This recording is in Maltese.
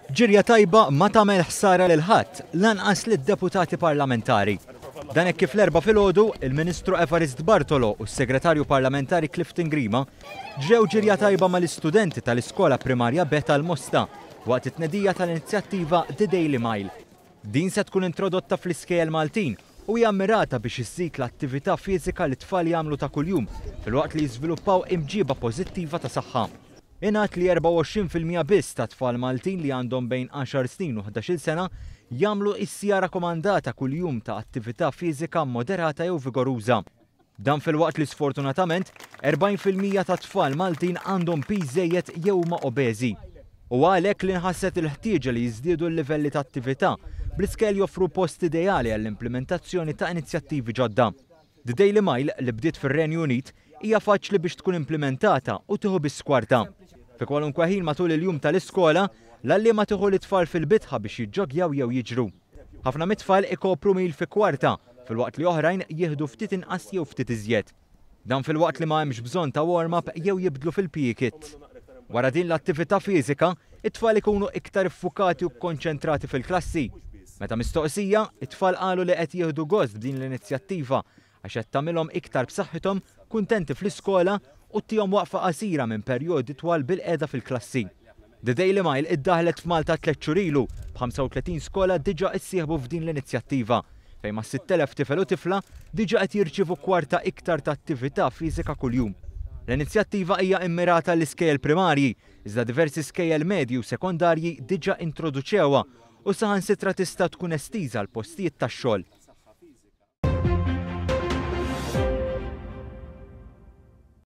Ġirja tajba ma tagħmel ħsara lil ħadd, lanqas lid-deputati parlamentari. Dan hekk kif l-Erbgħa filgħodu, il-Ministru Evarist Bartolo u s-Segretarju Parlamentari Clifton Grima ġrew ġirja tajba mal-istudenti tal-Iskola Primarja B tal-Mosta waqt it-tnedija tal-inizjattiva The Daily Mile. Din se tkun introdotta fl-iskejjel Maltin u hija mmirata biex iżżid l-attività fiżika li t-tfal jagħmlu ta' kuljum filwaqt li jiżviluppaw imġiba pożittiva ta' saħħa. Ingħad li 24% biss tat-tfal Maltin li għandhom bejn għaxar snin u ħdax-il sena jagħmlu s-siegħa rakkomandata kuljum ta' attività fiżika moderata jew vigoruża. Dan filwaqt li sfortunatament 40% tat-tfal Maltin għandhom piż żejjed jew huma obeżi. Huwa għalhekk li nħasset il-ħtieġa li jiżdiedu l-livelli ta' attività, bl-iskejjel joffru post ideali għall-implimentazzjoni ta' inizjattivi ġodda. The Daily Mile, li bdiet fir-Renju Unit, hija faċli biex tkun implimentata u tieħu biss kwarta. Fi kwalunkwe ħin matul il-jum tal-iskola, l-għalliema tieħu lit-tfal fil-bitħa biex jiġġoggjaw jew jiġru. Ħafna mit-tfal ikopru mil fi kwarta, filwaqt li oħrajn jieħdu ftit inqas jew ftit iżjed. Dan filwaqt li ma hemmx bżonn ta' warm-up jew jibdlu fil-PE kit. Wara din l-attività fiżika, it-tfal ikunu iktar iffukati u kkonċentrati fil-klassi. Meta mistoqsija, it-tfal qalu li qed jieħdu gost b'din l-inizjattiva għax qed tagħmilhom iktar b'saħħithom, kuntenti fl-iskola u ttihom waqfa qasira minn perjodi twal bilqiegħda fil-klassi. The Daily Mile iddaħħlet f'Malta tlett xhur ilu, b'35 skola diġà issieħbu f'din l-inizjattiva, fejn mas-6,000 tifel u tifla diġà qed jirċievu kwarta iktar ta' attività fiżika kuljum. L-inizjattiva hija immirata għall-iskejjel primarji, iżda diversi skejjel medji u sekondarji diġà introduċewha u saħansitra tista' tkun estiża għal postijiet tax-xogħol.